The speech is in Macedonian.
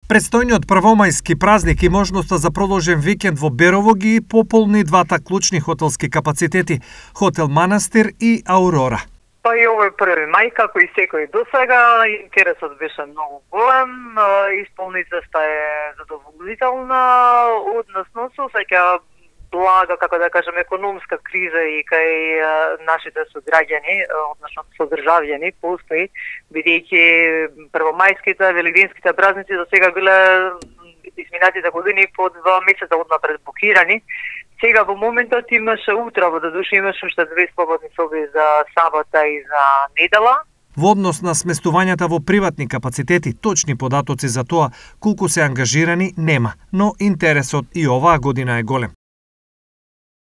Предстојниот првомајски празник и можноста за продолжен викенд во Берово ги пополни двата клучни хотелски капацитети – Хотел Манастир и Аурора. Па и овој 1 мај, како и секој досега, интересот беше многу голем, исполнителноста е задоволителна, односно се осеќа блага, како да кажем, економска криза и кај нашите сограѓани, односно содржавјани, постои, бидејќи првомајските, велигденските празници до сега биле изминатите години по 2 месеца однапред букирани. Сега во моментот имаше утрово, додуше имаше уште 2 слободни соби за сабота и за недела. Во однос на сместувањата во приватни капацитети, точни податоци за тоа колку се ангажирани нема, но интересот и оваа година е голем.